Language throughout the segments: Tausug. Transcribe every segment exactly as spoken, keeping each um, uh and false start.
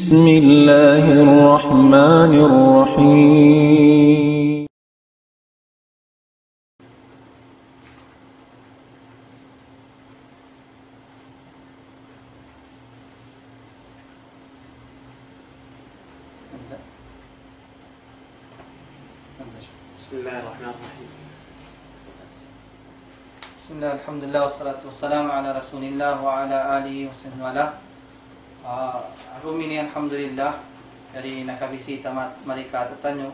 بسم الله الرحمن الرحيم. بسم الله الرحمن الرحيم. بسم الله، الحمد لله، والصلاة والسلام على رسول الله وعلى آله وصحبه وعلى. Ah, arum ini, alhamdulillah, yari nakabisita ma-, mari kātu'niyu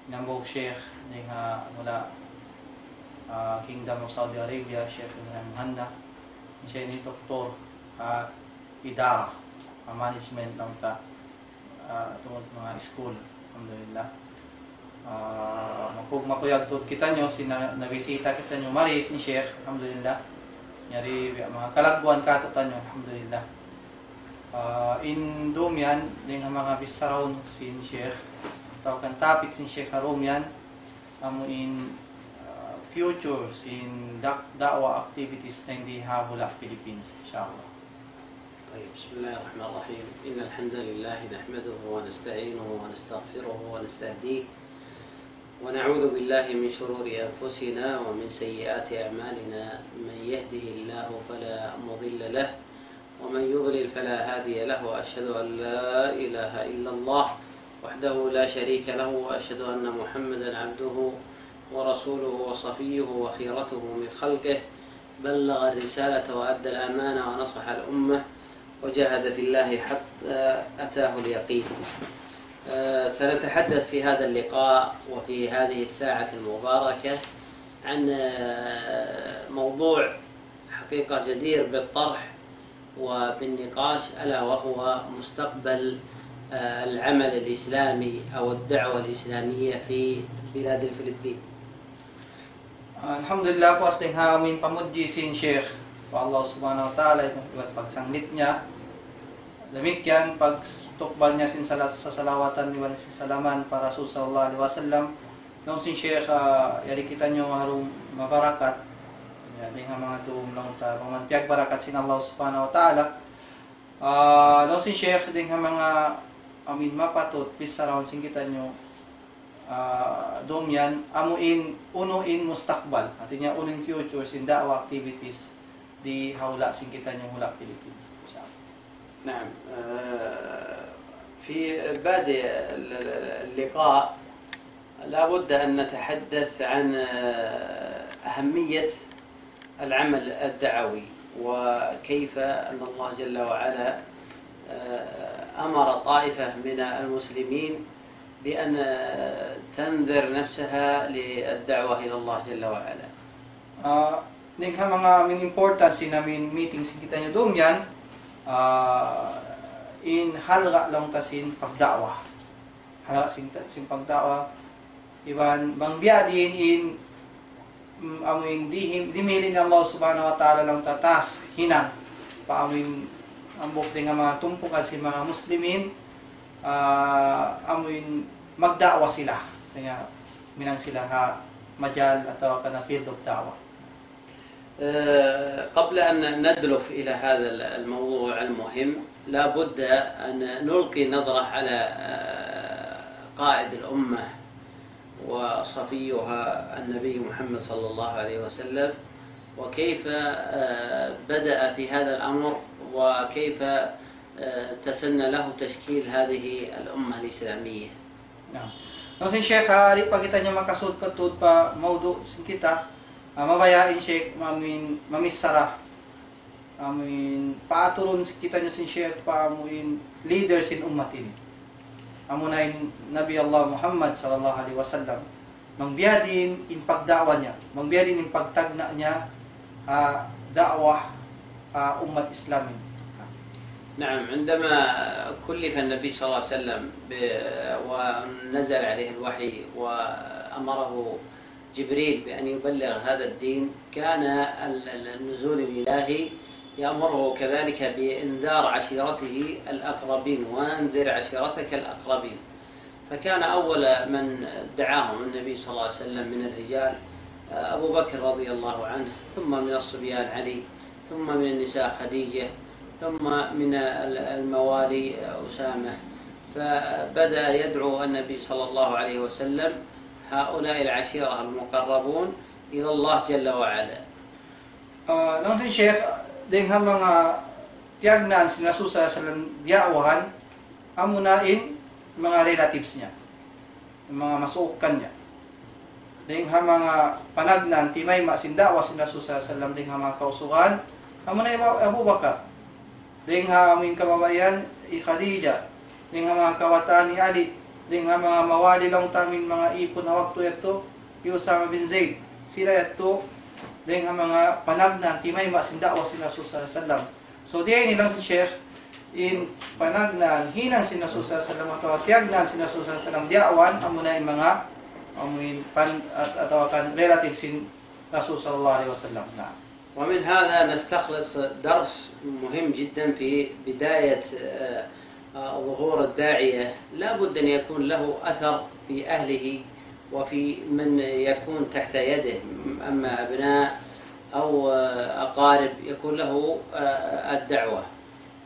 in hambuuk Sheikh dayn ha mula, ah, Kingdom of Saudi Arabia, Sheikh Ibrahim Hanna. Siya ini doktor, ah, idara, ah, management laung ta, ah, tungud manga school. Alhamdulillah. Ah, maku-, makuyag tuud kitaniyu, sin na-, nabisita kitaniyu mari sin Sheikh, alhamdulillah. Yari biya' manga kalagguan kātu'niyu, alhamdulillah. Ah, in dum yan, dayn ha manga bissarahun sin Sheikh, atawa kan topic sin Sheikh ha dum yan, amu in, ah, future sin da-, da'wah activities dayn di ha hula' Philippines, inshallah. طيب، بسم الله الرحمن الرحيم. إن الحمد لله نحمده ونستعينه ونستغفره ونستهديه، ونعوذ بالله من شرور أنفسنا ومن سيئات أعمالنا. من يهده الله فلا مضل له، ومن يضلل فلا هادي له، وأشهد أن لا إله إلا الله وحده لا شريك له، وأشهد أن محمدا عبده ورسوله وصفيه وخيرته من خلقه، بلغ الرسالة وأدى الأمانة ونصح الأمة وجاهد في الله حتى أتاه اليقين. آه، سنتحدث في هذا اللقاء وفي هذه الساعة المباركة عن، آه، موضوع حقيقة جدير بالطرح وبالنقاش، ألا وهو مستقبل، آه، العمل الإسلامي أو الدعوة الإسلامية في بلاد الفلبين. Alhamdulillah, puas dayn ha amuin pamudji sin Sheikh pa Allah Subhanahu wa Ta'ala, iban pagsanglit niya. Damikkiyan pagtukbal niya sin sala-, sasalawatan iban sin salaman pa Rasul sallallahu alayhi wasallam. Laung sin Sheikh, ah, yari kitaniyu ha dum mabarakat. Ya, dayn ha manga dum laung ta, bang man piyagbarakat sin Allah Subhanahu wa Ta'ala. Ah, laung sin Sheikh, dayn ha manga amuin mapatut bissarahun sin kitaniyu, ah, dum yan, amu in, unu in mustakbal. Hāti niya, unu in future sin da'wah activities di ha hula' sin kitaniyu hula' Philippines. Insha Allah. نعم، آه، في بادئ ال-، ال-، اللقاء لا بد أن نتحدث عن، آه، أهمية العمل الدعوي، وكيف أن الله جل وعلا، آه، أمر طائفة من المسلمين بأن، آه، تنذر نفسها للدعوة إلى الله جل وعلا. Ah, dayn ha manga amuin importance sin amuin meeting sin kitaniyu dum yan, ah, in halga' laung ta sin pagda'wah. Halga' sin ta-, sin pagda'wah. Iban bang biya' diin in, mm, amuin dihim-, dimihil in Allah Subhanahu wa Ta'ala laung ta taas hinang pa amuin hambuuk dayn ha manga tumpukan sin manga Muslimin, ah, amuin magda'wah sila. Kaya minang sila ha majal atawa kan field of da'wah. آه، قبل أن ندلف إلى هذا الموضوع المهم، لا بد أن نلقي نظرة على، آه، قائد الأمة وصفيها النبي محمد صلى الله عليه وسلم، وكيف، آه، بدأ في هذا الأمر، وكيف، آه، تسنى له تشكيل هذه الأمة الإسلامية. Naam. Laung sin Sheikh, ha, di' pa kitaniyu makasud pa tuud pa mawdu' sin kita, ah, mabaya' in Sheikh amuin mamichara, amuin paaturun sin kitaniyu sin Sheikh pa amuin leader sin ummat ini. Amuna in Nabi Allah Muhammad sallallahu alayhi wasallam. Bang biya' diin in pagda'wah niya, bang biya' diin in pagtagna' niya, ah, da'wah, ah, ummat Islam ini. نعم، عندما كلف النبي صلى الله عليه وسلم ب-، ونزل عليه الوحي وأمره جبريل بأن يبلغ هذا الدين، كان ال-، ال-، النزول الإلهي يأمره كذلك بإنذار عشيرته الأقربين، وأنذر عشيرتك الأقربين. فكان أول من دعاهم النبي صلى الله عليه وسلم من الرجال، آه، أبو بكر رضي الله عنه، ثم من الصبيان علي، ثم من النساء خديجة، ثم من الموالي أسامة، فبدأ يدعو النبي صلى الله عليه وسلم هؤلاء العشيرة المقربون إلى الله جل وعلا. Laung sin Sheikh, dayng ha manga tiyagnaan sin Rasul sallallahu alayhi wasallam diya'wahan, amuna in manga relatives niya, manga masuuk kaniya. Dayng ha manga panagnaan timayma' sin da'wa sin Rasul sallallahu alayhi wasallam dayng ha manga kausugan, amuna hi Abu Bakar. Dayng ha amuin kababaihan hi Khadija, dayng ha manga kawatan hi Ali, dayng ha manga mawali laung ta amuin manga ipun ha waktu yadtu hi Usama bin Zaid. Sila yadtu dayng ha manga panagnaan timayma' sin da'wa sin Rasul sallallahu alayhi wasallam. So diyaini laung sin Sheikh, in panagnaan hinang sin Rasul sallallahu alayhi wasallam atawa tiyagnaan sin Rasul sallallahu alayhi wasallam diya'wahan, amuna in manga amuin pan atawa kan relative sin Rasul sallallahu alayhi wasallam. Naam. ومن هذا نستخلص درس مهم جدا في بداية ظهور الداعية. لا بد أن يكون له أثر في أهله وفي من يكون تحت يده، أما أبناء أو أقارب يكون له الدعوة.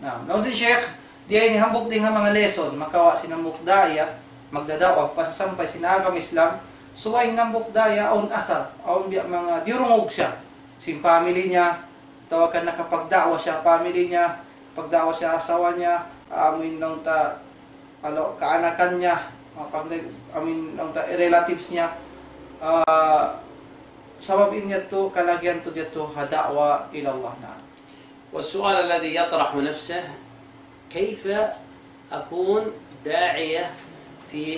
Naam. Laung sin Sheikh, diyaini hambuuk dayng ha manga lesson makawa' sin hambuuk da'iya magdada'wa, pasasampay sin agama Islam. Subay in hambuuk da'iya awn athar, awn biya' manga diyurungug siya sin family niya, atawa kan nakapagda'wa siya family niya, pagda'wa siya asawa niya, amuin laung ta kaanakan niya, amuin laung ta relatives niya. Sabab in yadtu kalagihan tuud yadtu ha da'wa ila Allah. Naam. والسؤال الذي يطرح نفسه: كيف أكون داعية في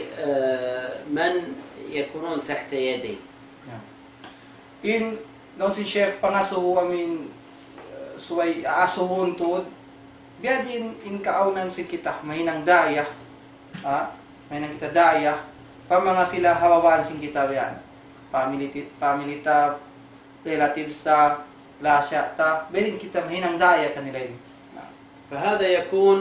من يكونون تحت يدي؟ In laung sin Sheikh, pangasubu amuin subay asubuhun tuud, biyadiin in kaawnan sin kita mahinang da'iya, ha? Mahinang kita da'iya pa manga sila ha babaan sin kita biya' yan, family ta, relatives ta, lasa' ta, biyadiin kita mahinang da'iya kanila ini. Naam. فهذا يكون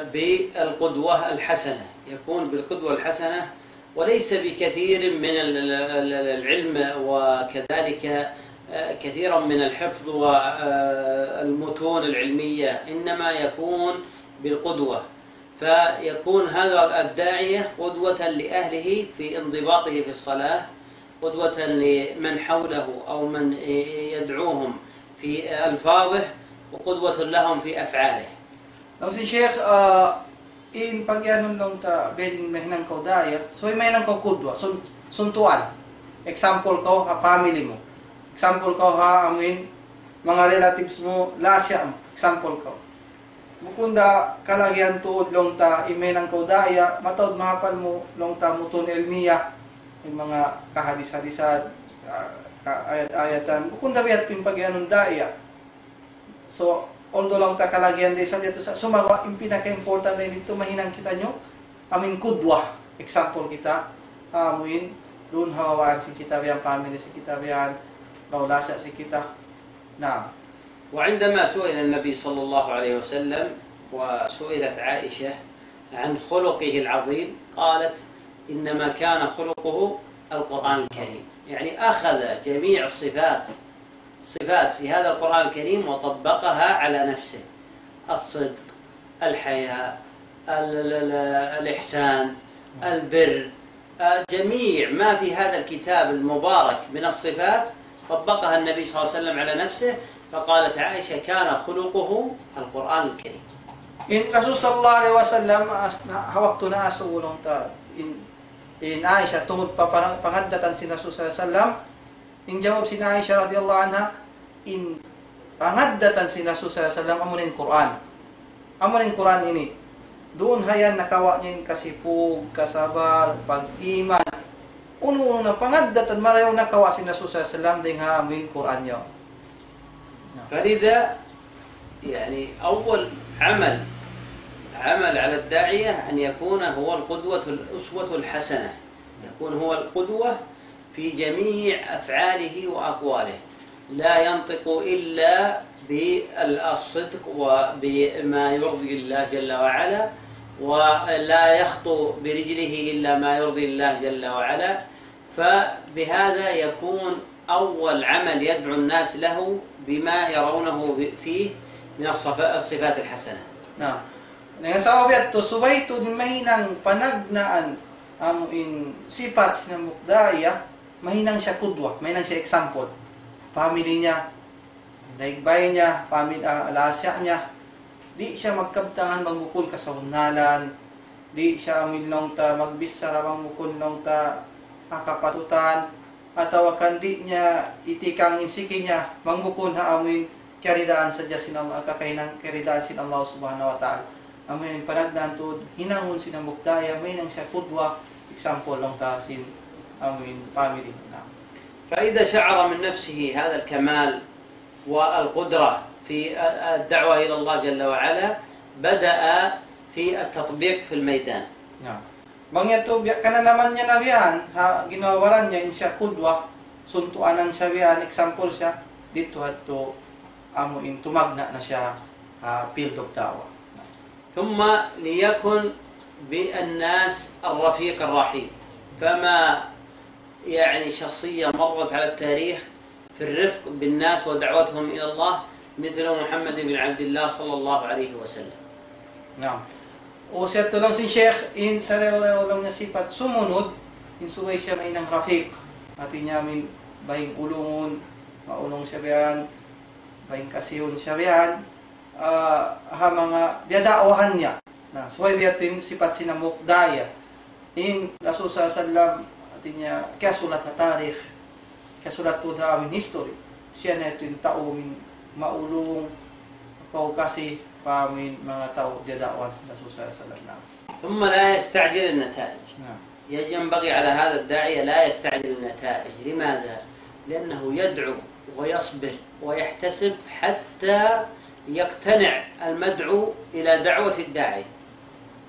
بالقدوة الحسنة، يكون بالقدوة الحسنة، وليس بكثير من العلم وكذلك كثيرا من الحفظ والمتون العلمية، إنما يكون بالقدوة. فيكون هذا الداعية قدوة لأهله في انضباطه في الصلاة، قدوة لمن حوله أو من يدعوهم في ألفاظه، وقدوة لهم في أفعاله. Laung sin Sheikh, in pagiyanun laung ta biyadiin mahinang kaw da'iya, subay mahinang kaw qudwa, suntuan. Example kaw ha family mu. Example kaw ha amuin manga relatives mu, lasa' mu. Example kaw. Bukun da kalagihan tuud laung ta in mahinang kaw da'iya, mataud mahapal mu laung ta mutun ilmiya, in manga kahadis-hadisan, kaayat-ayatan, bukun da biya' in pagiyanun da'iya. So although laung ta kalagihan da isab yadtu, sumagawa' in pinaka-important dayn didtu mahinang kitaniyu amuin qudwa, example kita, amuin duun ha babaan sin kita biya' yan, family sin kita biya' yan, lasa' sin kita. Naam. وعندما سئل النبي صلى الله عليه وسلم وسئلت عائشة عن خلقه العظيم، قالت: إنما كان خلقه القرآن الكريم. يعني أخذ جميع الصفات، صفات في هذا القرآن الكريم وطبقها على نفسه: الصدق، الحياء، الإحسان، البر، جميع ما في هذا الكتاب المبارك من الصفات طبقها النبي صلى الله عليه وسلم على نفسه، فقالت عائشة: كان خلقه القرآن الكريم. In Rasul sallallahu alayhi wasallam, ha waktu naasubu laung ta in Aisha tungud pa pangaddatan sin Rasul sallallahu alayhi wasallam, in jawab sin Aisha radiyallahu anha, in pangaddatan sin Rasul sallallahu alayhi wasallam amuna in Qur'an. Amuna in Qur'an ini. Duun ha yan nakawa' niya in kasipug, kasabar, pag-iman. Unu-unu na pangaddatan marayaw nakawa' sin Rasul sallallahu alayhi wasallam dayng ha amuin Qur'an yaun. فلذا يعني أول عمل، عمل على الداعية أن يكون هو القدوة الأسوة الحسنة، يكون هو القدوة في جميع أفعاله وأقواله، لا ينطق إلا بالصدق وبما يرضي الله جل وعلا، ولا يخطو برجله إلا ما يرضي الله جل وعلا. فبهذا يكون أول عمل يدعو الناس له بما يرونه فيه من الصفا-، الصفات الحسنة. Na, na, sabab yadtu, subay tuud in mahinang panagnaan amu in sipat sin hambuuk da'iya, mahinang siya kudwa, mahinang siya example. Family niya, daig bay niya, family, ah, lasa niya. Di' siya magkabtangan bang bukun kasabunnalan. Di' siya amuin laung ta magbichara bang bukun laung ta ha kapatutan. Atawa kan di' niya itikang in siki niya bang bukun ha amuin kiyaridaan sadja sin Allah, kakahinang kiyaridaan sin Allah Subhanahu wa Ta'ala. Amuin panagnaan tuud, hinangun sin hambuuk da'iya, mahinang siya kudwa, example laung ta sin amuin family. Na. فإذا شعر من نفسه هذا الكمال والقدرة في الدعوة إلى الله جل وعلا، بدأ في التطبيق في الميدان. Na. Bang yadtu, biya' kananaman niya na biya' yan, ha, ginhawa-baran niya, in siya kudwa, suntuanan siya biya' yan, example siya, didtu hadtu, amu in tumagna' na siya, ha, field of da'wah. ثم ليكن بالناس الرفيق الرحيم. فما يعني شخصية مرت على التاريخ في الرفق بالناس ودعوتهم إلى الله مثل محمد بن عبد الله صلى الله عليه وسلم. Naam. Ubus yadtu laung sin Sheikh, in sarayaw-rayaw laung niya sipat sumunud, in subay siya mahinang rafiq. Hati niya amuin baying ulungun, maulung siya biya' yan, baying kasihun siya biya' yan, ah, ha manga diyada'wahan niya. Na, subay biya' yadtu in sipat sin hambuuk da'iya. In Rasul sallallahu alayhi wasallam, hati niya, kiyasulat ha tarikh, kiyasulat tuud ha amuin history. Siya na yadtu in tau amuin maulung, kaw kasi pa amuin manga tau diyada'wahan sin Rasul sallallahu alayhi wasallam. Na. ثم لا يستعجل النتائج. Na. ينبغي على هذا الداعية لا يستعجل النتائج. لماذا؟ لأنه يدعو ويصبر ويحتسب حتى يقتنع المدعو إلى دعوة الداعي.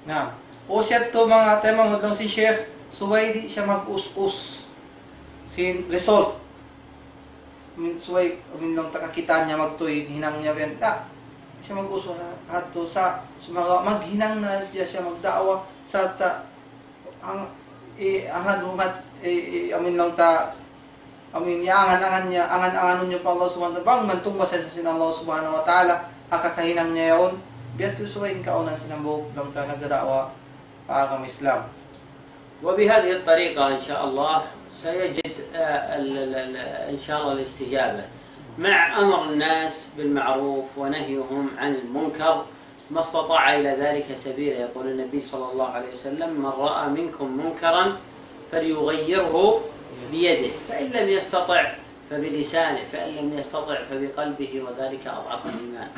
Naam. Ubus yadtu manga taymanghud laung sin Sheikh, subay di' siya mag-us-us sin result. Amuin subay, amuin laung ta kakitaan niya magtuy, hinang niya biya' yan. Da, di' siya mag-us-us ha-, hadtu sa, sumagawa' maghinang na siya, siya magda'wa, sarta' ang, i-, hangad-hangad, i-, i-, amuin laung ta, amuin iyangan-angan niya, angan-anganun niya pa Allah Subhanahu wa Ta'ala, bang man tungbas siya sin Allah Subhanahu wa Ta'ala, ha kakahinang niya yaun, biya' yadtu subay in kaawnan sin hambuuk laung ta nagdada'wa pa agama Islam. وبهذه الطريقة إن شاء الله سيجد، آه، ال-، ال-، ال-، إن شاء الله الاستجابة. مع أمر الناس بالمعروف ونهيهم عن المنكر ما استطاع إلى ذلك سبيلا. يقول النبي صلى الله عليه وسلم: "من رأى منكم منكرا فليغيره بيده، فإن لم يستطع فبلسانه، فإن لم يستطع فبقلبه، وذلك أضعف الإيمان."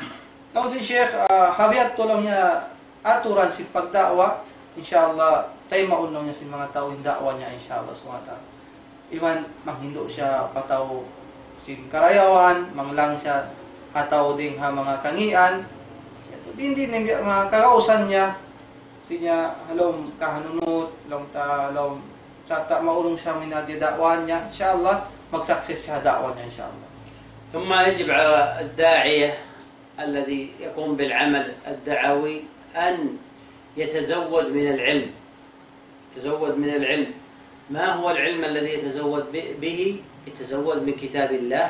Laung sin Sheikh, ah, ha biya' yadtu laung niya aturan sin pagda'wa, insya Allah, taymaun laung niya sin manga tau in da'wa niya, insya Allah subhanahu wa ta'ala. Iban manghindu' siya pa tau sin karayawan, manglang siya ha tau dayn ha manga kangīan. Yadtu, dayn di' na in manga kagausan niya, hati niya ha lawm kahanunut, lawm ta, lawm sarta' maulung siya ha da'wa niya, insya Allah, mag-success siya ha da'wa niya, insya Allah. ثم يجب على الداعية الذي يقوم بالعمل الدعوي أن يتزود من العلم. يتزود من العلم. ما هو العلم الذي يتزود ب-، به؟ يتزود من كتاب الله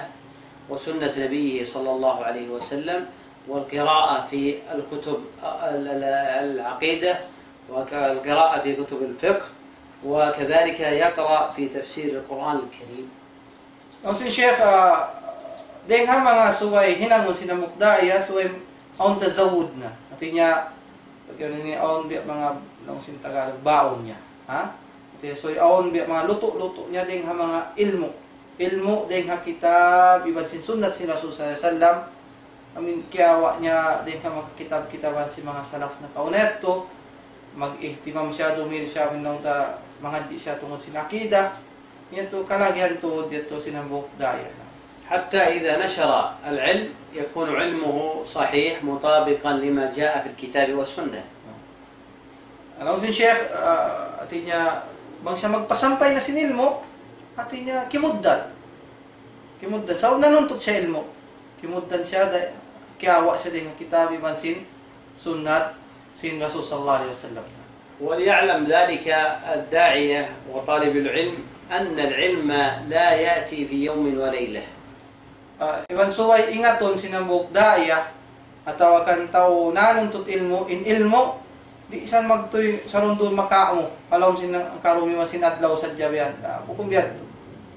وسنة نبيه صلى الله عليه وسلم، والقراءة في الكتب، ال-، ال-، العقيدة، والقراءة في كتب الفقه، وكذلك يقرأ في تفسير القرآن الكريم. Laung sin Sheikh, ah, dayn ha manga subay hinangun sin hambuuk da'iya, subay awn tazawwud na. Hati niya, pag yan ini awn biya' manga laung sin Tagalog, baon niya. Ha? Hati niya, subay awn biya' manga lutu'-lutu' niya dayn ha manga ilmu'. Ilmu' dayn ha kitab, iban sin sunnat sin Rasul sallallahu alayhi wasallam. Amuin kiyawa' niya dayn ha manga kitab-kitaban sin manga salaf nakauna yadtu, mag-ihtimam siya, dumihil siya, amuin laung ta mangadji' siya tungud sin akida, yadtu kalagihan tuud yadtu sin hambuuk da'iya. حتى إذا نشر العلم يكون علمه صحيح مطابقا لما جاء في الكتاب والسنة. Laung sin Sheikh, ah, hati niya, bang siya magpasampay na sin ilmu', hati niya, kimugdan. Kimugdan. Sabab nanuntut siya ilmu'. Kimugdan siya, da-, kiyawa' siya dayn ha kitab iban sin sunnat sin Rasul sallallahu alayhi wasallam. وليعلم ذلك الداعية وطالب العلم أن العلم لا يأتي في يوم وليلة. Ah, iban subay ingatun sin hambuuk da'iya, Atawa kan tau nanuntut ilmu', in ilmu', di' sa magtuy sarundun makaamu, ha lawm sin karumiwa sin adlaw sadja biya' yan. Ah, bukun biya' yadtu.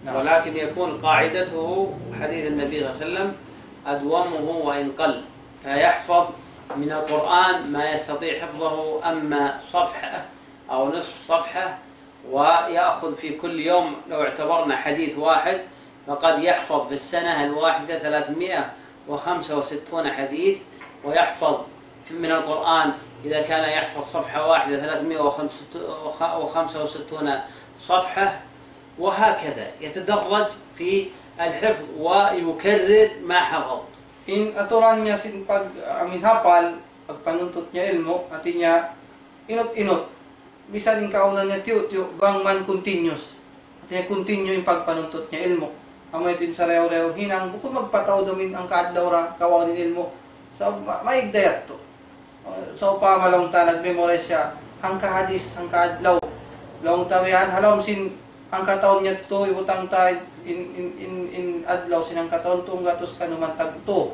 Na. ولكن يكون قاعدته حديث النبي صلى الله عليه وسلم: أدومه وإن قل، فيحفظ من القرآن ما يستطيع حفظه، أما صفحة أو نصف صفحة، ويأخذ في كل يوم، لو اعتبرنا حديث واحد، فقد يحفظ في السنة الواحدة ثلاثمائة وخمسة وستون حديث، ويحفظ في، من القرآن إذا كان يحفظ صفحة واحدة ثلاثمائة وخمسة وستون صفحة، وهكذا يتدرج في الحفظ ويكرر ما حفظ. In aturan niya sin pag-, amin hapal, pagpanuntut niya ilmu', hati niya inut-inut. Bisan in kaawnan niya tiyu'-tiyu', bang man continuous. Hati niya continue in pagpanuntut niya ilmu'. Amu yadtu in sarayaw-rayaw hinang, bukun magpataud amin hangka adlaw ra kawaun in ilmu'. So, ma-, maig da yadtu. Uh, sawpama laung ta nag-memorize siya, hangka hadith, hangka adlaw. Laung ta biya' yan, ha lawm sin hangka tahun niya yadtu, hibutang ta in, in, in, in adlaw sin hangka tahun, tunggatus kanuman tagtu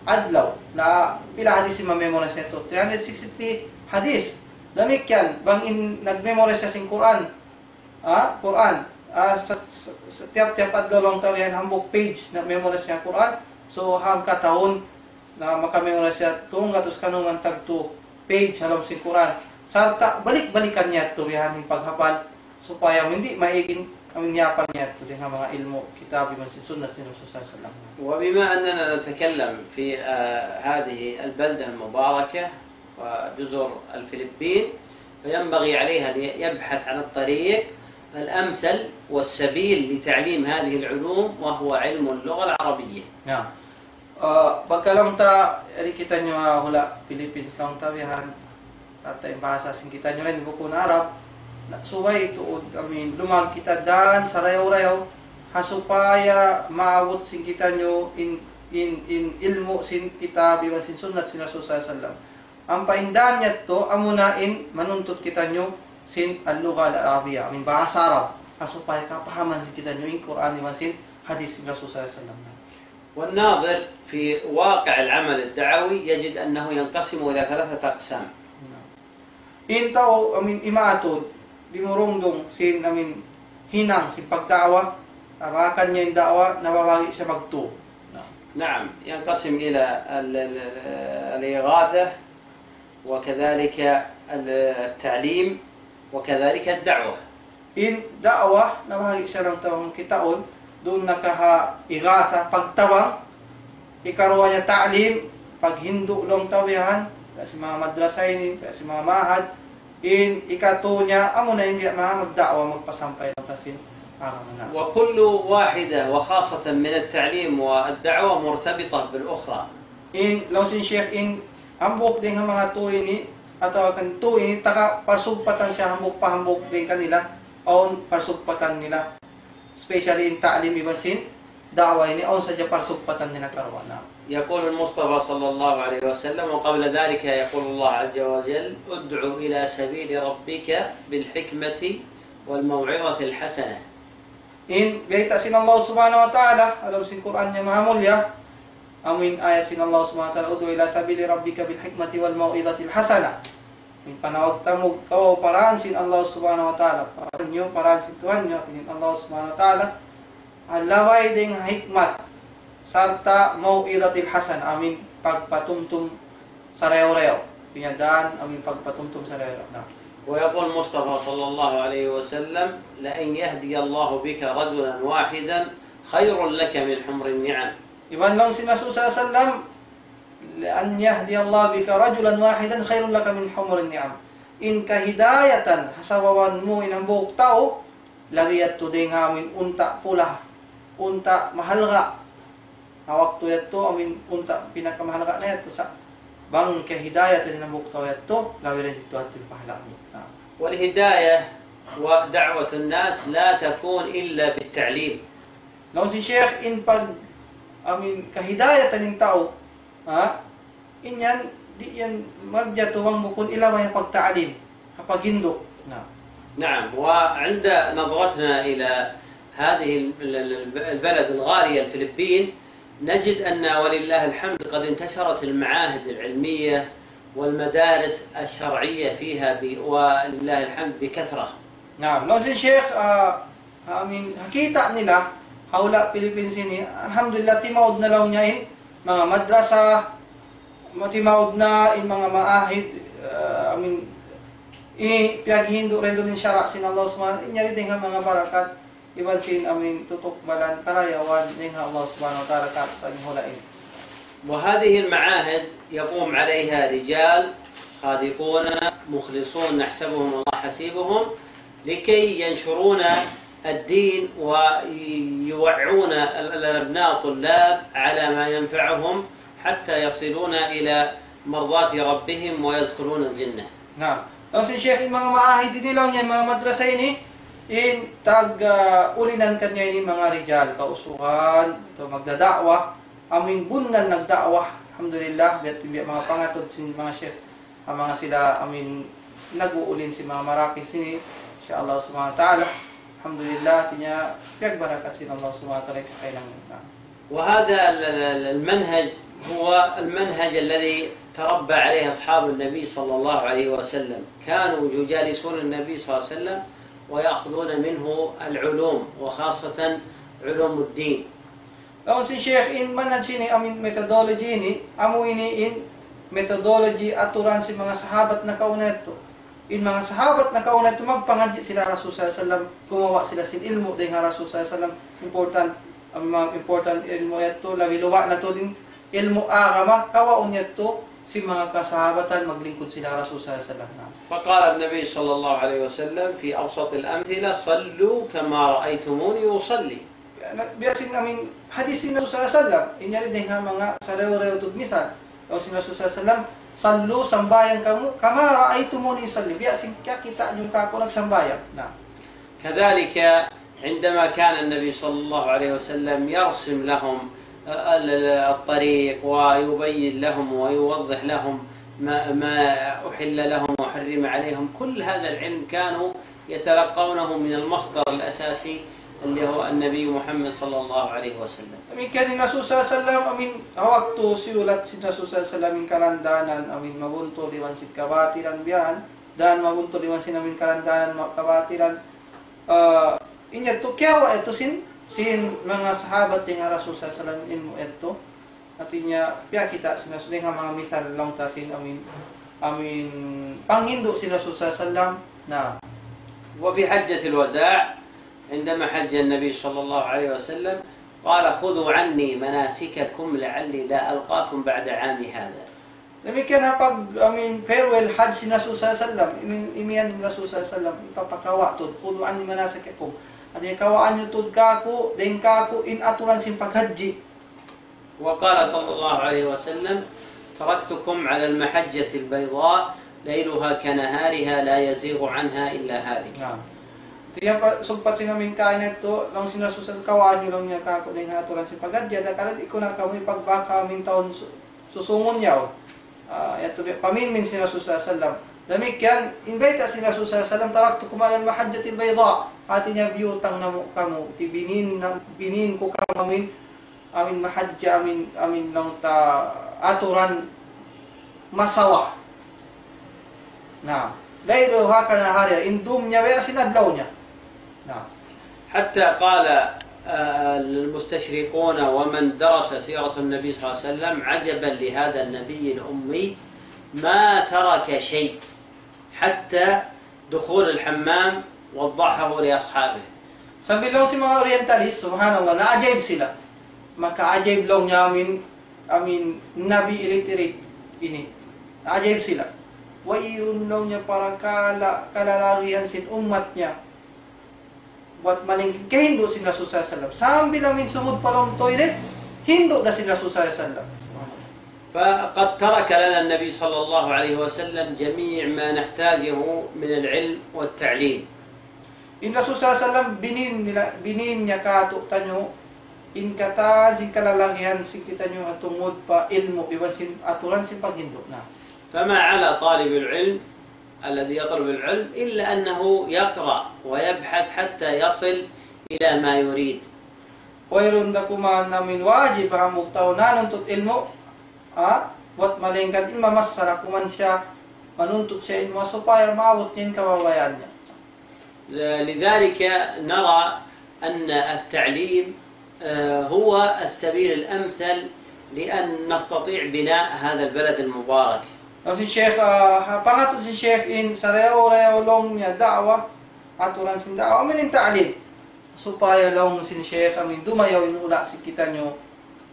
adlaw. Na, pila hadith in ma-memorize niya yadtu? Three hundred sixty-three hadith. Damikkiyan, bang in nag-memorize siya sin Qur'an, ah, Qur'an, ah, sa, sa, sa tiyap-tiyap adlaw laung ta biya' yan hambuuk page na-memorize niya Qur'an. So, hangka tahun na maka-memorize siya tunggatus kanuman tagtu page ha lawm sin Qur'an. Sarta' balik-balikan niya yadtu biya' yan in paghapal supaya amu in di' maig in, amu in hiyapal niya yadtu dayn ha manga ilmu' kitab iban sin sunnat sin Rasul sallallahu alayhi wasallam. وبما أننا نتكلم في، آه، هذه البلدة المباركة وجزر الفلبين، فينبغي عليه أن يبحث عن الطريق الأمثل والسبيل لتعليم هذه العلوم، وهو علم اللغة العربية. Naam. Uh, pagka laung ta, yari kitaniyu, ah, hula' Philippines laung ta biya' yan, atawa in bahasa sin kitaniyu laung in bukun Arab, na, subay tuud, I mean, lumag kita dan sarayaw-rayaw, ha supaya maabut sin kitaniyu in, in, in ilmu' sin kitab iban sin sunnat sin Rasul sallallahu alayhi wasallam. Ampa in dan yadtu, amuna in manuntut kitaniyu sin al-lugha al-arabiyya, amu in bahasa Arab, ha supaya kapahaman sin kitaniyu in Qur'an iban sin hadith sin Rasul sallallahu alayhi wasallam. والناظر في واقع العمل الدعوي يجد أنه ينقسم إلى ثلاثة أقسام. In tau, amu in, imatud, dimurungdung sin, amu in, hinang sin pagda'wa, abakan niya in da'wa, nababahagi' siya magtu. نعم، ينقسم إلى ال-، ال-، الإغاثة، وكذلك التعليم، وكذلك الدعوة. In da'wa, nabahagi' siya laung ta bang kitaun, duun na ka ha ighatha, pagtabang, hikaruwa niya ta'lim, paghindu' laung ta biya' yan, biya' sin manga madrasa ini, biya' sin manga ma'had, in ikatu niya, amuna in biya' manga magda'wa, magpasampay laung ta sin agama na. وكل واحدة وخاصة من التعليم والدعوة مرتبطة بالأخرى. In, laung sin Sheikh, in hambuuk dayn ha manga tu ini, atawa kan tu ini, taga parsugpatan siya hambuuk pa hambuuk dayn kanila, awn parsugpatan nila. Especially in ta'lim iban sin da'wa ini, awn sadja parsugpatan nila karuwa na. يقول المصطفى صلى الله عليه وسلم، وقبل ذلك يقول الله عز وجل: ادع إلى سبيل ربك بالحكمة والموعظة الحسنة. In bayta' sin Allah Subhanahu wa Ta'ala, ha lawm sin Qur'an niya mahamulliya, amu in ayat sin Allah Subhanahu wa Ta'ala, ادع إلى سبيل ربك بالحكمة والموعظة الحسنة. In panawag tamug kaw pa dān sin Allah Subhanahu wa Ta'ala, pa dān niyu, pa dān sin Tuhan niyu, hāti niya in Allah Subhanahu wa Ta'ala, ha laway dayn ha hikmat, sarta' mau'izatil hasan, amu in pagpatumtum sarayaw-rayaw. Hāti niya dān, amu in pagpatumtum sarayaw-rayaw. Na. ويقول المصطفى صلى الله عليه وسلم: لأن يهدي الله بك رجلا واحدا خير لك من حمر النعم. Iban laung sin Rasul sallallahu alayhi wasallam, لأن يهدي الله بك رجلا واحدا خير لك من حمر النعم. In kahidayatan ha sababan mu in hambuuk tau, labi yadtu dayn ha amu in unta' pula, unta' mahalga'. Ha waktu yadtu amu in unta' pinakamahalga' na yadtu sa'. Bang kahidayatan in hambuuk tau yadtu, labi dayn didtu yadtu in pahala' mu. Na. والهداية ودعوة الناس لا تكون إلا بالتعليم. Laung sin Sheikh, in pag-, amu in kahidayatan in tau, ha? In yan, di' yan magjatu bang bukun ilaway ha pagta'lim, ha paghindu'. Na. نعم، وعند نظرتنا إلى هذه ال-، ال-، ال-، البلد الغالية الفلبين، نجد أن ولله الحمد قد انتشرت المعاهد العلمية والمدارس الشرعية فيها ب-، ولله الحمد بكثرة. Naam, laung sin Sheikh, ah, amin, ha kita' nila, ha hula' Philippines ini, alhamdulillah, timaud na laung niya in manga madrasa, ma-, timaud na in manga maahid, ah, amin, i-, piyaghindu' rin duun in sara' sin Allah Subhanahu, in yari dayn ha manga barakat, iban sin amin tutukbalan karayawan dayn ha Allah Subhanahu wa Ta'ala, ka-, kan hula' ini. وهذه المعاهد يقوم عليها رجال صادقون مخلصون نحسبهم الله حسيبهم لكي ينشرون الدين ويوعون ال-، ال-، الأبناء الطلاب على ما ينفعهم حتى يصلون إلى مرضاة ربهم ويدخلون الجنة. Naam. Laung sin Sheikh, in manga maahid ini laung niya, manga madrasa ini, in tag, ah, ulinan kaniya ini manga rijal, kausugan, atawa magdada'wa, amin bunnal nagda'wa, alhamdulillah, biya' tu in biya' manga pangatud sin manga Sheikh, ah, manga sila, amin nag-uulin sin manga marakis ini, insha Allah Subhanahu wa Ta'ala, alhamdulillah, hātinya, piyagbarakat sin Allah Subhanahu wa Ta'ala, kakainang. Naam. وهذا ال-، ال-، ال-، المنهج هو المنهج الذي تربى عليه أصحاب النبي صلى الله عليه وسلم، كانوا يجالسون النبي صلى الله عليه وسلم ويأخذون منه العلوم، وخاصة علوم الدين. Laung sin Sheikh, in manhaj ini, amin methodology ini, amu ini in methodology, aturan sin manga sahabat nakauna yadtu. In manga sahabat nakauna yadtu magpangadji' sila Rasul sallallahu alayhi wasallam, gumawa' sila sin ilmu' dayn ha Rasul sallallahu alayhi wasallam, important, ang mga important ilmu' yadtu, labi luba' na tuud in ilmu' agama, kawaun yadtu sin manga kasahabatan maglingkud sila Rasul sallallahu alayhi wasallam. فقال النبي صلى الله عليه وسلم في أبسط الأمثلة: صلوا كما رأيتموني أصلي. Na, biya' sin amin hadis sin Rasul sallallahu alayhi wasallam, in yari dayn ha manga sarayaw-rayaw tuud misal. Laung sin Rasul sallallahu alayhi wasallam, "صلوا, sambahayang kamu, كما رأيتموني أصلي, biya' sin kiyakita' niyu kāku' nagsambahayang." Na. كذلك عندما كان النبي صلى الله عليه وسلم يرسم لهم ال-، ال-، الطريق ويبين لهم ويوضح لهم ما، ما أحل لهم وحرم عليهم، كل هذا العلم كانوا يتلقونه من المصدر الأساسي اللي هو النبي محمد صلى الله عليه وسلم. Damikkiyan in Rasul sallallahu alayhi wasallam, amin, ha waktu siyulat sin Rasul sallallahu alayhi wasallam in karandanan, amin, mabuntul iban sin kabatilan biya' yan, dan mabuntul iban sin amin karandanan ma-, kabatilan, ah, in yadtu kiyawa' yadtu sin, sin manga sahabat dayn ha Rasul sallallahu alayhi wasallam ilmu' yadtu. Hātinya, piyakita' sin Rasul dayn ha manga misal laung ta sin amin, amin panghindu' sin Rasul sallallahu alayhi wasallam. Na. وفي حجة الوداع عندما حج النبي صلى الله عليه وسلم قال: "خذوا عني مناسككم لعلي لا ألقاكم بعد عامي هذا." Damikkiyan ha pag, amin, farewell hajj sin Rasul sallallahu alayhi wasallam, amin, imiyan sin Rasul sallallahu alayhi wasallam, ipapakawa' tuud, "خذوا عني مناسككم." Hātinya, kawaan niyu tuud kāku', dayn kāku' in aturan sin paghajji. وقال صلى الله عليه وسلم: "تركتكم على المحجة البيضاء ليلها كنهارها لا يزيغ عنها إلا هالك." Naam. Hātinya pa-, sugpat sin amin kaina yadtu, laung sin Rasul sallallahu alayhi wasallam, kawaan niyu laung niya kāku' dayn ha aturan sin paghajji, adakala di' ku na kamu ipagbak ha amin tahun su-, susungun yaun. Ah, yadtu bi-, paminmin sin Rasul sallallahu alayhi wasallam. Damikkiyan, in bayta' sin Rasul sallallahu alayhi wasallam, "تركتكم على المحجة البيضاء." Hātinya, biyutang namu' kamu, ti binin na, binin ku kamu amin, amin mahajja, amin, amin laung ta aturan masawa. Na, ليلها كنهارها, in dum niya biya' sin adlaw niya. Na. حتى قال، آه، المستشرقون ومن درس سيرة النبي صلى الله عليه وسلم: "عجبا لهذا النبي الأمي ما ترك شيء حتى دخول الحمام وضعه لأصحابه." Sambil laung sin manga orientalist, subhanallah, naajaib sila. Makaajaib laung niya amin, amin Nabi illiterate ini. Naajaib sila. Wayruun laung niya parakala' kalalagihan sin ummat niya. Buat malayngkan kahindu' sin Rasul sallallahu alayhi wasallam. Sambil amin sumud pa lawm toilet, hindu' da sin Rasul sallallahu alayhi wasallam. فقد ترك لنا النبي صلى الله عليه وسلم جميع ما نحتاجه من العلم والتعليم. In Rasul sallallahu alayhi wasallam binin nila, binin niya kātu'niyu, in katan sin kalalagihan sin kitaniyu ha tungud pa ilmu', iban sin aturan sin paghindu' na. فما على طالب العلم الذي يطلب العلم إلا أنه يقرأ ويبحث حتى يصل إلى ما يريد. Wayruun da kuman amuin wajib ha hambuuk tau nanuntut ilmu', ha? Buwat malaingkan in mamassara kuman siya, manuntut siya ilmu' supaya maabut niya in kabayaan niya. لذلك نرى أن التعليم، آه، هو السبيل الأمثل لأن نستطيع بناء هذا البلد المبارك. Laung sin Sheikh, ah, ha, pangatud sin Sheikh in sarayaw-rayaw laung niya da'wa, aturan sin da'wa, amuin in ta'lim. Supaya laung sin Sheikh, amuin dumayaw in hula' sin kitaniyu,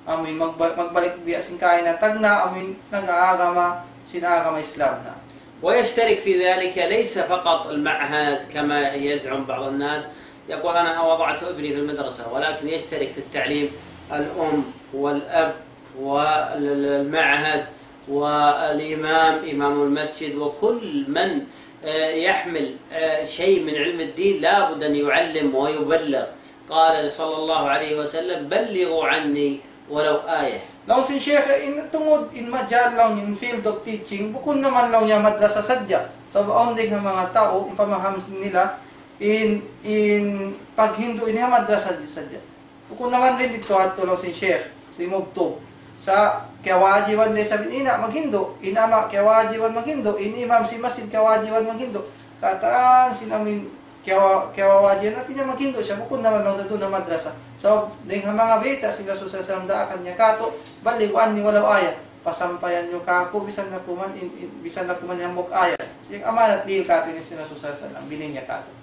amuin magba-, magbalik biya' sin kaina tagna', amuin nag-aagama sin agama Islam na. ويشترك في ذلك ليس فقط المعهد كما يزعم بعض الناس، يقول: "أنا وضعت ابني في المدرسة"، ولكن يشترك في التعليم الأم والأب والمعهد والإمام، إمام المسجد، وكل من، آه، يحمل، آه، شيء من علم الدين لا بد أن يعلم ويبلغ. قال صلى الله عليه وسلم: "بلغوا عني ولو آية". Laung sin Sheikh, in tungud in majal laung in field of teaching, bukun naman laung niya madrasa sadja. Sabab awn dayn ha manga tau, in pamaham nila, in, in paghindu' ini ha madrasa sadja. Bukun naman dayn didtu ha yadtu laung sin Sheikh, timubtub. Sa' kiyawajiban da isab in ina' maghindu', in ama' kiyawajiban maghindu', in imam sin masjid kiyawajiban maghindu'. Katan sin amuin kiyawa-, kiyawajiban, hati niya maghindu' siya, bukun naman laung duun ha madrasa. Sabab dayn ha manga bayta' sin Rasul sallallahu alayhi wasallam daakan niya kātu', "بلغوا عني ولو آية". Pasampayan niyu kāku' bisan na kuman in, in, bisan na kuman in hambuuk ayat. In amanat dihil kātu' ini sin Rasul sallallahu alayhi wasallam, binin niya kātu'.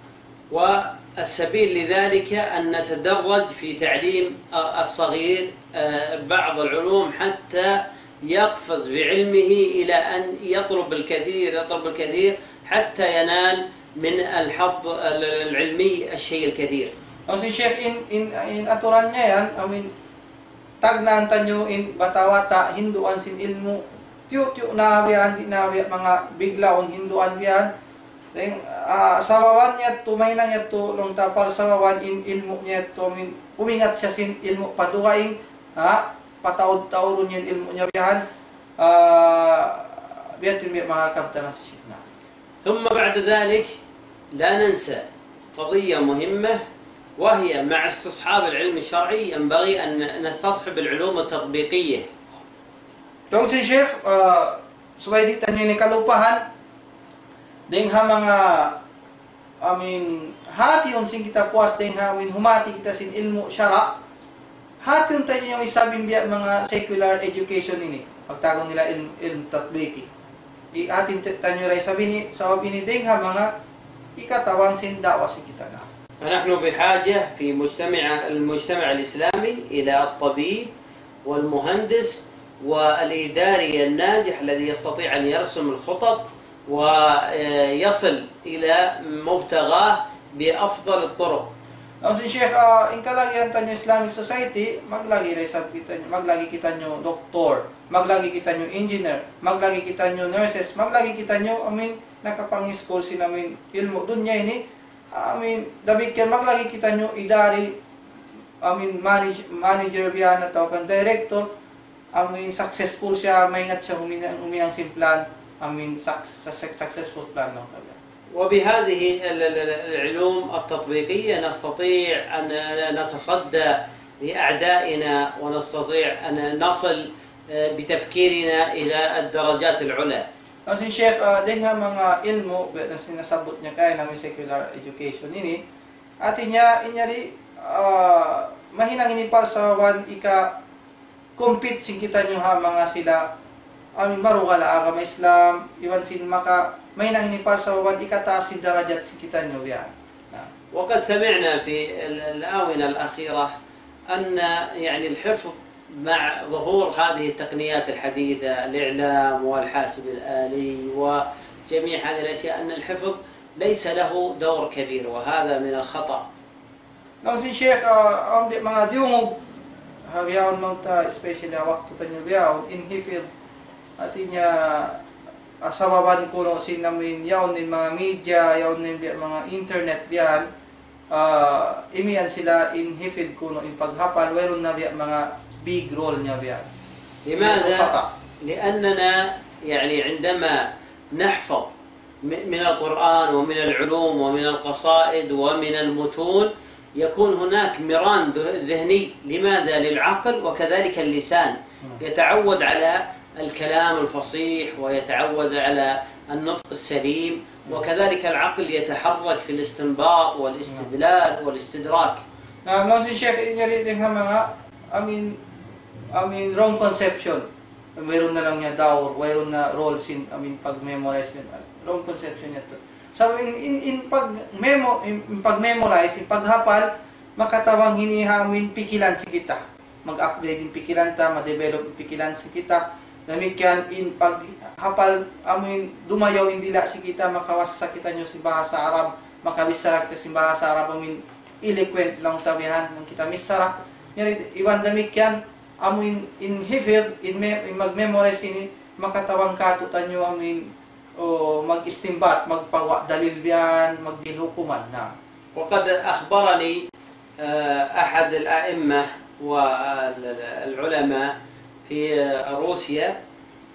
والسبيل لذلك أن نتدرج في تعليم الصغير، آه، بعض العلوم حتى يقفز بعلمه إلى أن يطلب الكثير، يطلب الكثير حتى ينال من الحظ العلمي الشيء الكثير. Laung sin Sheikh in, in, in aturan niya yan, amuin tagnaan taniyu in bata'-bata' hinduan sin ilmu', tiyu'-tiyu' na biya' yan, di' na biya' manga biglaun hinduan biya' yan. Dayn, ah, sababan yadtu, mahinang yadtu, laung ta parsababan in ilmu' niya yadtu, amuin umingat siya sin ilmu' pa dugaing, ha? Pataud-taudun niya in ilmu' niya biya' yan, ah, biya' yan in biya' manga kabtangan sin Sheikh na. ثم بعد ذلك لا ننسى قضية مهمة، وهي مع استصحاب العلم الشرعي ينبغي أن نستصحب العلوم التطبيقية. Laung sin Sheikh, ah, subay di' taniyu ini kalupahan, dayn ha manga, amuin, hātihun sin kita puas dayn ha, amuin, humāti kita sin ilmu' sara', hātihun taniyu isab in biya' manga secular education ini. Pagtawagun nila ilm-, ilmu' tatbiki. Hātihun taniyu isab ini, sabab ini dayn ha manga hikatabang sin da'wa sin kita na. فنحن بحاجة في مجتمع، المجتمع الإسلامي إلى الطبيب والمهندس والإداري الناجح الذي يستطيع أن يرسم الخطط ويصل إلى مبتغاه بأفضل الطرق. Laung sin Sheikh, ah, in kalagihan taniyu Islamic Society, maglagi da isab kitaniyu, maglagi kitaniyu doktor, maglagi kitaniyu engineer, maglagi kitaniyu nurses, maglagi kitaniyu, amuin, nakapang-school sin amuin ilmu' dunya ini, amuin, damikkiyan maglagi kitaniyu idari, amuin, manage-, manager biya' yan atawa kan director, amuin successful siya, maingat siya huminang, huminang sin plan, amuin suc-, suc-, successful plan laung ta biya' yan. وبهذه ال-، ال-، ال-، العلوم التطبيقية نستطيع أن نتصدى لأعدائنا، ونستطيع أن نصل، آه، بتفكيرنا إلى الدرجات العلى. Laung sin Sheikh, ah, dayn ha manga ilmu', biya' na sin nasabbut niya kaina, amuin secular education ini, hati niya, in yari, ah, mahinang ini parsababan hika-compete sin kitaniyu ha manga sila, amuin, marugal ha agama Islam, iban sin maka, mahinang ini parsababan hikataas sin darajat sin kitaniyu biya' yan. Na. وقد سمعنا في ال-، الآونة الأخيرة أن، يعني، الحفظ مع ظهور هذه التقنيات الحديثة، الإعلام والحاسب الآلي وجميع هذه الأشياء، أن الحفظ ليس له دور كبير، وهذا من الخطأ. Laung sin Sheikh, ah, awn biya' manga diyungug, ha bihaun laung ta, especially ha waktu taniyu bihaun, in hifdh, hati niya, ah, sababan kunu' sin amuin, yaun in manga media, yaun in biya' manga internet biya' yan, ah, imiyan sila in hifdh kunu' in paghapal, wayruun na biya' manga big role niya biya' yan. لماذا؟ خطأ. لأننا يعني عندما نحفظ م-، من القرآن ومن العلوم ومن القصائد ومن المتون، يكون هناك مران ذه-، ذهني. لماذا؟ للعقل وكذلك اللسان. يتعود على الكلام الفصيح، ويتعود على النطق السليم، وكذلك العقل يتحرك في الاستنباط والاستدلال والاستدراك. Na, no, sin Sheikh, in yari dayn ha manga, I mean, I mean, wrong conception. Wayruun na laung niya dawr, wayruun na role sin, I mean, pag-memorize, wrong conception yadtu. So, in, in, in pag-memo-, in, in pag-memorize, in paghapal, makatabang ini ha amuin pikilan sin kita. Mag-upgrade in pikilan ta, ma-develop in pikilan sin kita. Damikkiyan in paghapal, amuin dumayaw in dila' sin kita, makawasa kitaniyu sin bahasa Arab, makabichara kita sin bahasa Arab, amuin eloquent laung ta bihan, bang kita michara. Yari, iban damikkiyan, amuin in hifdh, in me-, in mag-memorize ini, makatabang kātu'niyu amuin, o, mag-istinbat, magpaguwa' dalil bihan, magdihil hukuman, na. وقد أخبرني، آه، أحد الأئمة والعلماء في روسيا،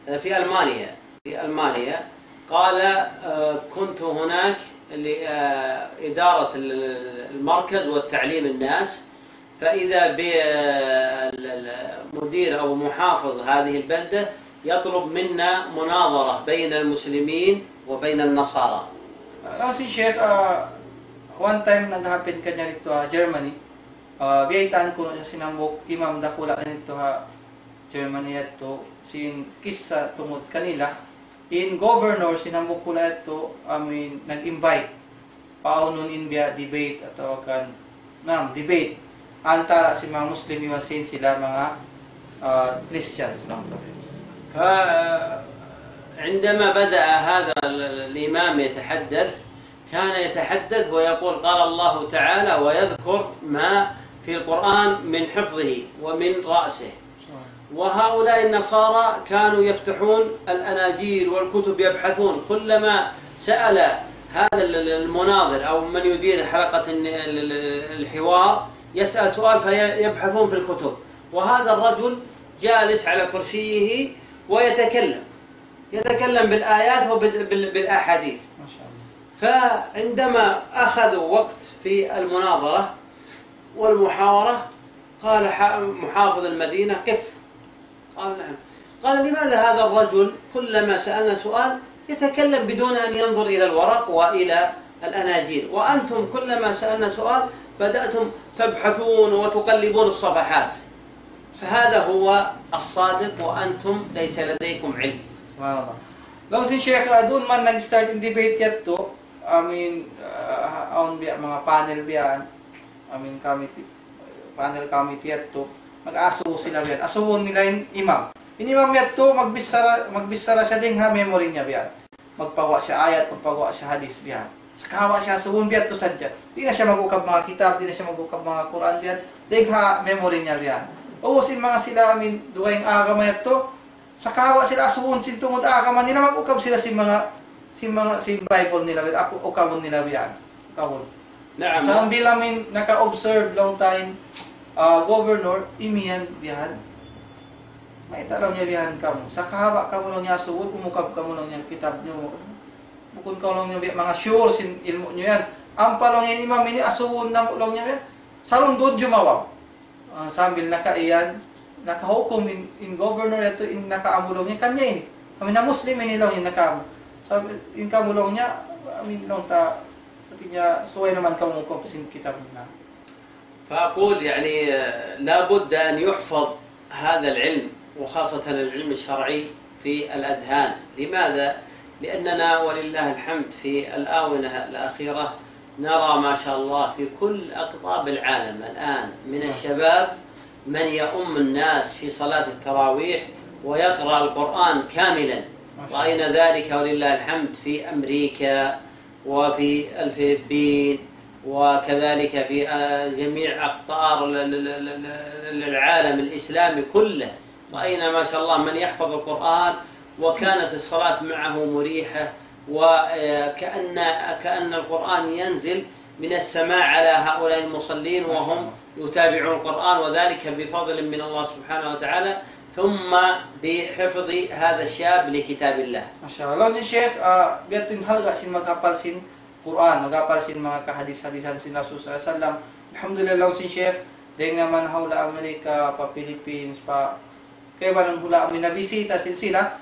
آه، في ألمانيا، في ألمانيا، قال: آه، كنت هناك لإدارة المركز والتعليم الناس، فإذا بالمدير أو محافظ هذه البلدة يطلب منا مناظرة بين المسلمين وبين النصارى. Laung sin Sheikh, ah, one time nag-happen kaniya didtu ha Germany. Ah, biyaytaan kunu' siya sin hambuuk imam dakula' didtu ha Germany yadtu, sin kissa tungud kanila. In governor sin hambuuk hula' yadtu, amuin nag-invite. Paunun in biya' debate atawa kan, naam, debate. Antara sin manga Muslim iban sin sila manga, ah, Christians, no? فعندما بدأ هذا ال-، ال-، الإمام يتحدث، كان يتحدث ويقول: قال الله تعالى، ويذكر ما في القرآن من حفظه ومن رأسه. وهؤلاء النصارى كانوا يفتحون الأناجيل والكتب يبحثون، كلما سأل هذا ال-، ال-، المناظر أو من يدير حلقة ال-، ال-، ال-، الحوار يسأل سؤال فيبحثون في الكتب، وهذا الرجل جالس على كرسيه ويتكلم، يتكلم بالآيات وبال-، بال-، بالأحاديث. ما شاء الله. فعندما أخذوا وقت في المناظرة والمحاورة، قال ح-، محافظ المدينة: "قف." قال: "نعم." قال: "لماذا هذا الرجل كلما سألنا سؤال يتكلم بدون أن ينظر إلى الورق وإلى الأناجيل، وأنتم كلما سألنا سؤال بدأتم تبحثون وتقلبون الصفحات، فهذا هو الصادق وأنتم ليس لديكم علم." Subhanallah. Laung sin Sheikh, ah, duun man nag-start in debate yadtu. I mean, ah, awn biya' manga panel biya'. I mean, committee, panel committee yadtu. Mag-asubu sila biya'. Asubuhun nila in imam. In imam yadtu, magbichara, magbichara siya dayn ha memory niya biya'. Magpaguwa' siya ayat, magpaguwa' siya hadith biya'. Sakawa' siya asubuhun biya' yadtu sadja. Di' na siya mag-ukab manga kitab, di' na siya mag-ukab manga Qur'an biya'. Dayn ha memory niya biya'. Ubus in manga sila, I mean, dugaing agama yadtu, sakawa' sila asubuhun sin tungud agama nila, mag-ukab sila sin manga, sin manga, sin Bible nila, aku, ukabun nila biya'. Ukabun. نعم. Sambil, I mean, naka-observe laung ta in, ah, governor, imiyan biya'. Mayta' laung niya biya' kamu. Sakawa' kamu laung niya asubuhun, umukab kamu laung niya kitab niyu. Bukun kamu laung niya biya' manga sure sin ilmu' niyu yan. Ampa laung in imam ini asubuhun namu' laung niya biya'. Sarundun jumawab. Ah, sambil nakaiyan, nakahukum in, in governor yadtu in nakaamu laung niya, kaniya ini. Amu in Muslim ini laung in nakaamu. Sambil in kamu laung niya, amu in laung ta, hati niya, subay naman kamu hukum sin kitab na. فأقول يعني، آه، لا بد أن يحفظ هذا العلم، وخاصة العلم الشرعي، في الأذهان. لماذا؟ لأننا ولله الحمد في الآونة الأخيرة نرى ما شاء الله في كل أقطاب العالم الآن من الشباب من يؤم الناس في صلاة التراويح ويقرأ القرآن كاملا. ما شاء الله. رأينا ذلك ولله الحمد في أمريكا وفي الفلبين وكذلك في، آه، جميع أقطار ال-، ال-، ال-، ال-، ال-، العالم الإسلامي كله. رأينا ما شاء الله من يحفظ القرآن وكانت الصلاة معه مريحة، وكأن، كأن القرآن ينزل من السماء على هؤلاء المصلين وهم يتابعون القرآن، وذلك بفضل من الله سبحانه وتعالى، ثم بحفظ هذا الشاب لكتاب الله. Masha Allah. Laung sin Sheikh, ah, biya' ha yan in halga' sin maghapal sin Qur'an, maghapal sin manga kahadis-hadisan sin Rasul sallallahu alayhi wasallam, Alhamdulillah, laung sin Sheikh, dayng naman ha hula' Amerika, pa Philippines, pa kaibanan hula' amin nabisita sin sila.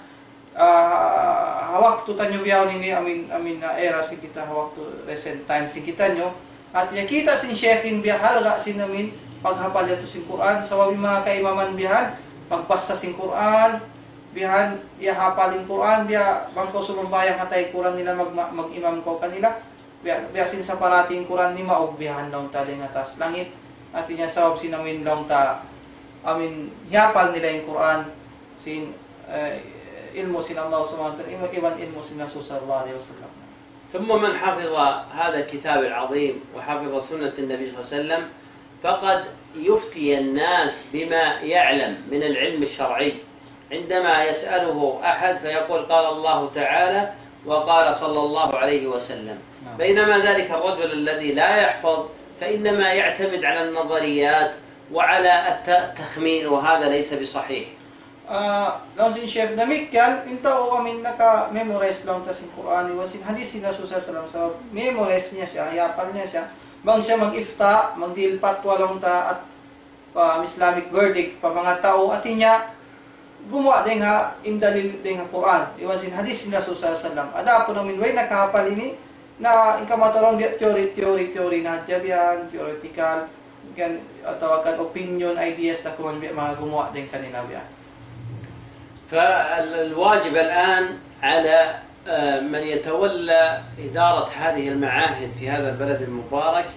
Ah, ha waktu taniyu bihaun ini, amin, amin na era sin kita, ha waktu recent time sin kitaniyu. Hati niya kita' sin Sheikh in biya' halga' sin amin paghapal yadtu sin Qur'an, sabab in manga kaimaman biya' yan, magbasa sin Qur'an, biya' yan, iyahapal in Qur'an, biya' bang kaw sumambahayang ha taykud nila, mag-, mag-imam kaw kanila. Biya', biya' sin saparating Qur'an nimaug biya' yan laung ta dayng ha taas langit. Hati niya sabab sin amin laung ta, amin hiyapal nila in Qur'an, sin, eh, ilmu' sin Allah Subhanahu wa Ta'ala, iban, iban ilmu' sin Rasul sallallahu alayhi wasallam. ثم من حفظ هذا الكتاب العظيم وحفظ سنة النبي صلى الله عليه وسلم فقد يفتي الناس بما يعلم من العلم الشرعي، عندما يسأله أحد فيقول: قال الله تعالى وقال صلى الله عليه وسلم. نعم. بينما ذلك الرجل الذي لا يحفظ فإنما يعتمد على النظريات وعلى الت-، التخمين، وهذا ليس بصحيح. Ah, laung sin Sheikh, damikkiyan, in tau amin naka-memorize laung ta sin Qur'an, iban sin hadith sin Rasul sallallahu alayhi wasallam, sabab memorize niya siya, hiyapal niya siya, bang siya mag-ifta, magdihil patwa laung ta, at pa Islamic verdict, pa manga tau, hati niya, gumuwa' dayng ha, in dalil dayng ha Qur'an, iban sin hadith sin Rasul sallallahu alayhi wasallam. Adapun amin way nakahapal ini, na in kamatauran biya' theory, theory, theory na hadja biya' yan, theoretical, kan, atawa kan opinion, ideas, na kuman biya' manga gumuwa' dayng kanila biya' yan. فالواجب الآن على، آه، من يتولى إدارة هذه المعاهد في هذا البلد المبارك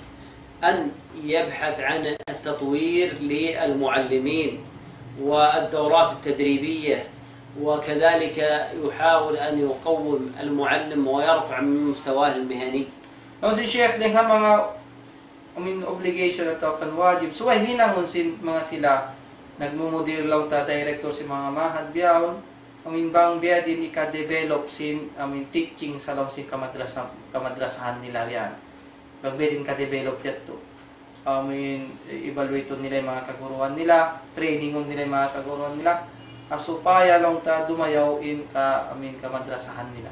أن يبحث عن التطوير للمعلمين والدورات التدريبية، وكذلك يحاول أن يقوم المعلم ويرفع من مستواه المهني. Laung sin Sheikh, dayng ha manga, I mean, obligation atawa kan wajib, subay hinangun sin manga sila nagmumudir laung ta, director sin manga ma'had bihaun, I mean, bang biyadiin hika-develop sin, I mean, teaching ha lawm sin kamadrasa-, kamadrasahan nila yan. Bang biyadiin ka-develop yadtu. I mean, evaluate nila in manga kaguruhan nila, training nila in manga kaguruhan nila. Ha supaya laung ta dumayaw in ka, I mean, kamadrasahan nila.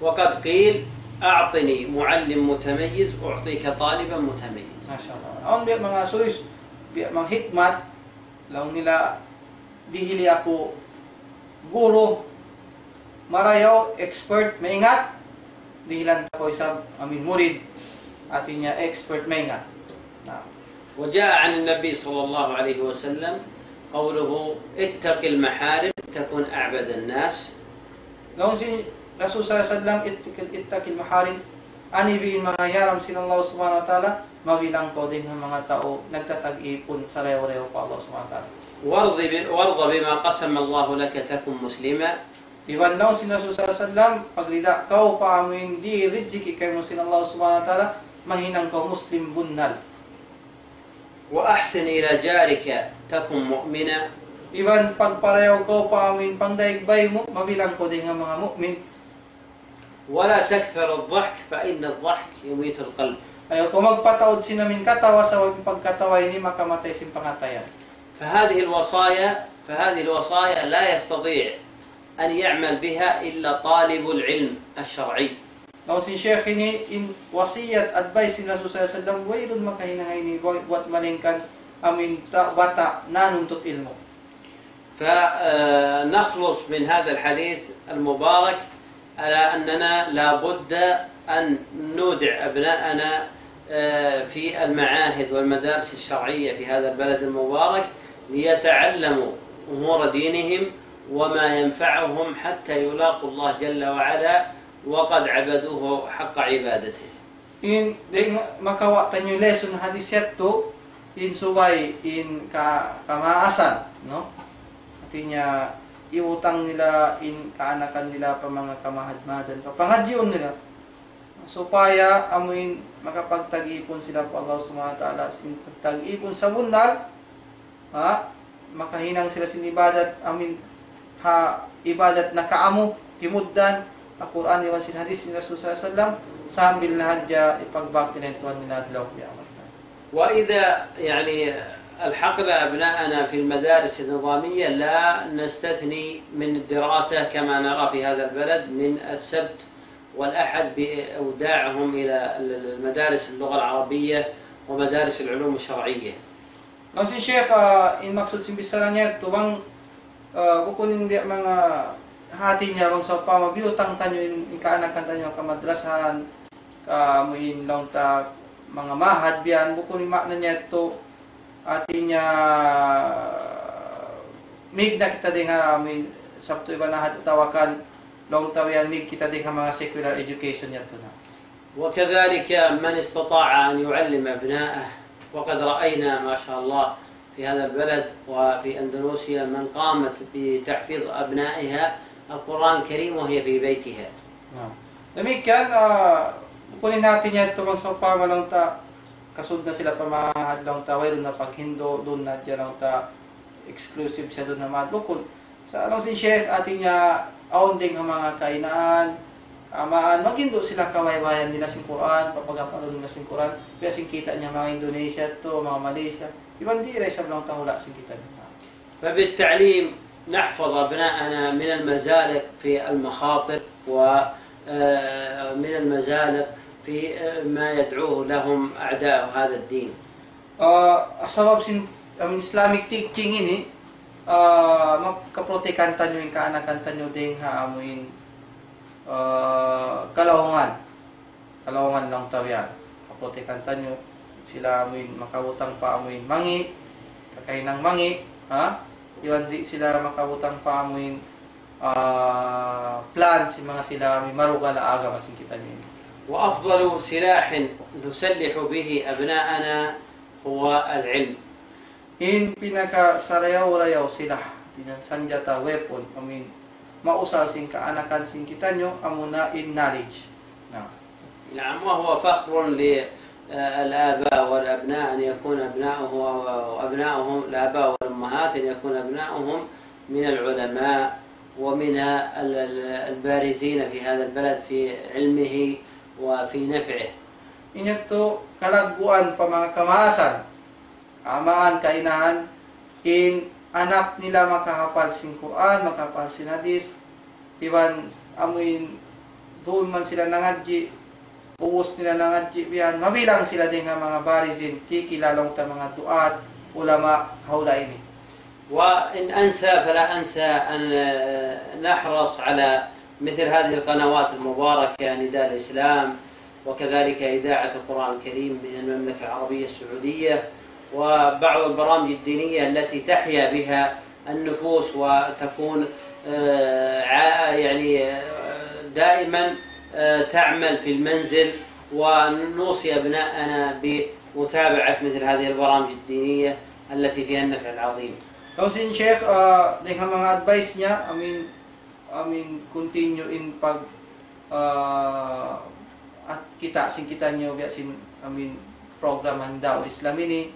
وقد قيل: أعطني معلم متميز أعطيك طالبا متميزا. Masha Allah. Awn biya' manga suyus, biya' manga hikmat, laung nila, dihili aku guru marayaw, expert, maingat, dihilan ta kaw isab, I mean, murid, hati niya expert, maingat. Na. وجاء عن النبي صلى الله عليه وسلم قوله: اتق المحارم تكن أعبد الناس. Laung sin Rasul sallallahu alayhi wasallam, "Ittaqil, ittaqil maharim." Anibi in manga hiyaram sin Allah Subhanahu wa Ta'ala, mabilang kaw dayng ha manga tau nagtatag-ipun sarayaw-rayaw pa Allah Subhanahu wa Ta'ala. وارض ب-، وارض بما قسم الله لك تكن مسلما. Iban laung sin Rasul sallallahu alayhi wasallam, pagrida kaw pa amu in di rijiki kaymu sin Allah Subhanahu wa Ta'ala, mahinang kaw Muslim bunnal. وأحسن إلى جارك تكن مؤمنا. Iban pagparayaw kaw pa amu in pangdaig bay mu, mabilang kaw dayng ha manga mu'min. ولا تكثر الضحك فإن الضحك يميت القلب. Ayaw kaw magpataud sin amu in katawa, sabab in pagkatawa ini makamatay sin pangatayan. فهذه الوصايا، فهذه الوصايا لا يستطيع أن يعمل بها إلا طالب العلم الشرعي. Laung sin Sheikh ini, in wasiyat, advice sin Rasul sallallahu alayhi wasallam, wayruun makahinang ini buwat malaingkan amu in ta-, bata' nanuntut ilmu'. فنخلص من هذا الحديث المبارك على أننا لا بد أن نودع أبناءنا، آه، في المعاهد والمدارس الشرعية في هذا البلد المبارك ليتعلموا أمور دينهم وما ينفعهم حتى يلاقوا الله جل وعلا وقد عبدوه حق عبادته. In, dayng makawa' taniyu lesson hadis yadtu, in subay, in ka-, kamaasan, no? Hati niya, iutang nila in kaanakan nila pa manga kamahad-mahadan, pa pangadjiun nila. Supaya amu in makapagtag-ipun sila pa Allah Subhanahu wa Ta'ala, sin pagtag-ipun sabunnal, ha, makahinang sila sin ibadat, amu in ha ibadat nakaamu, timuddan, ha Qur'an iban sin hadis sin Rasul sallallahu alayhi wasallam, sambil na hadja ipagbak nila in Tuhan nila adlaw kiyamat. وإذا، يعني، ألحقنا أبناءنا في المدارس النظامية، لا نستثني من الدراسة كما نرى في هذا البلد من السبت والأحد بإوداعهم إلى ال-، ال-، المدارس اللغة العربية ومدارس العلوم الشرعية. Laung sin Sheikh, ah, in maksud sin bichara niya yadtu bang, ah, bukun in di' manga hati niya bang sawpama biyutang taniyu in, in kaanakan taniyu ha madrasahan, ka amu in laung ta manga ma'had biya' yan, bukun in maana niya yadtu, hati niya, mīg na kita dayn ha amu in sabtu iban ahad atawa kan laung ta biya' yan mīg kita dayn ha manga secular education yadtu na. وكذلك من استطاع أن يعلم أبناءه، وقد رأينا ما شاء الله في هذا البلد وفي أندونيسيا من قامت بتحفيظ أبنائها القرآن الكريم وهي في بيتها. Na. Damikkiyan, ah, bukun in hati niya yadtu bang sawpama laung ta kasud na sila pa ma'had laung ta, wayruun na paghindu', duun na hadja laung ta exclusive siya duun ha ma'had. Bukun. Sa' laung sin Sheikh, hati niya, awn dayn ha manga kainaan, amaan, maghindu' sila kawaywayan nila sin Qur'an, papagapalun nila sin Qur'an, biya' sin kita' niya manga Indonesia yadtu, manga Malaysia, iban di' da isab laung ta hula' sin kita' niya. فبالتعليم نحفظ أبناءنا من المزالق في المخاطر و، آه، من المزالق في، آه، ما يدعوه لهم أعداء هذا الدين. Ah, sabab sin, amu in Islamic teaching ini, ah, makaprotekan taniyu in kaanakan taniyu dayn ha amu in, ah, kalaungan. Kalaungan laung ta biya' yan. Kaprotekan taniyu, sila amu in makabutang pa amu in mangi', kakahinang mangi', ha? Iban di' sila makabutang pa amu in, ah, plan sin manga sila amu in marugal ha agama sin kitaniyu ini. وأفضل سلاح نسلح به أبناءنا هو العلم. In pinakasarayaw-rayaw sila, hati niya sanjata, weapon, amu in mausal sin kaanakan sin kitaniyu, amuna in knowledge. Na. نعم، وهو فخر للآباء والأبناء أن يكون أبناؤه وأبناؤهم، الآباء والأمهات، أن يكون أبناؤهم من العلماء ومن ال-، ال-، البارزين في هذا البلد في علمه وفي نفعه. In yadtu kalagguan pa manga kamaasan, amaan, kainahan, in anak nila makahapal sin Qur'an, makahapal sin hadith, iban amu in duun man sila nangadji', ubus nila nangadji' biya' yan, mabilang sila dayn ha manga barizin, kikilala ta manga du'at, ulama, ha hula' ini. وإن أنسى فلا أنسى أن نحرص على مثل هذه القنوات المباركة، نداء الإسلام، وكذلك إذاعة القرآن الكريم من المملكة العربية السعودية، وبعض البرامج الدينية التي تحيا بها النفوس وتكون، آه، عا-، يعني، آه، دائمًا، آه، تعمل في المنزل، ونوصي أبناءنا بمتابعة مثل هذه البرامج الدينية التي فيها النفع العظيم. Laung sin Sheikh, ah, dayn ha manga advice niya, amu in, amu in continue in pag, ah, at kita' sin kitaniyu biya' sin, amu in, program Handa'ul Islam ini,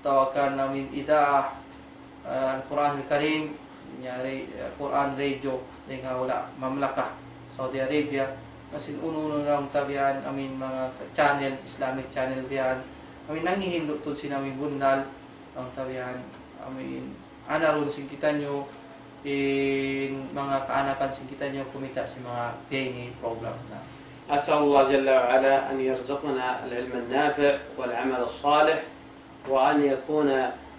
atawa kan amu in ida'ah, ah, Al-Quran Al-Karim, yari, ah, Quran Radio, dayn ha hula' mamlakah Saudi Arabia, iban sin unu-unu laung ta biya' yan, amu in manga channel, Islamic channel biya' yan, amu in nanghihindu' tuud sin amu in bunnal, laung ta biya' yan, amu in anarun sin kitaniyu, in manga kaanakan sin kitaniyu kumita' sin manga biya' ini program na. أسأل الله جل وعلا أن يرزقنا العلم النافع والعمل الصالح، وأن يكون،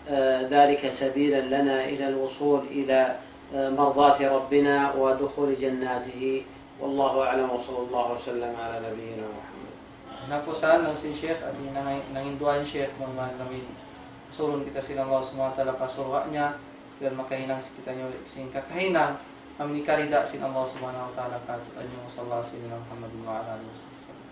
آه، ذلك سبيلا لنا إلى الوصول إلى، آه، مرضاة ربنا ودخول جناته. والله أعلم، وصلى الله وسلم على نبينا محمد. Hinapusan laung sin Sheikh, hati niya nang-, nanginduan Sheikh, mudah-mudahan amu in asuruhun kita sin Allah Subhanahu wa Ta'ala pa surga' niya, biya' makahinang sin kitaniyu sin kakahinang, amu in karida' sin Allah Subhanahu wa Ta'ala kātu'niyu. وصلى الله على سيدنا محمد وعلى آله وصحبه وسلم.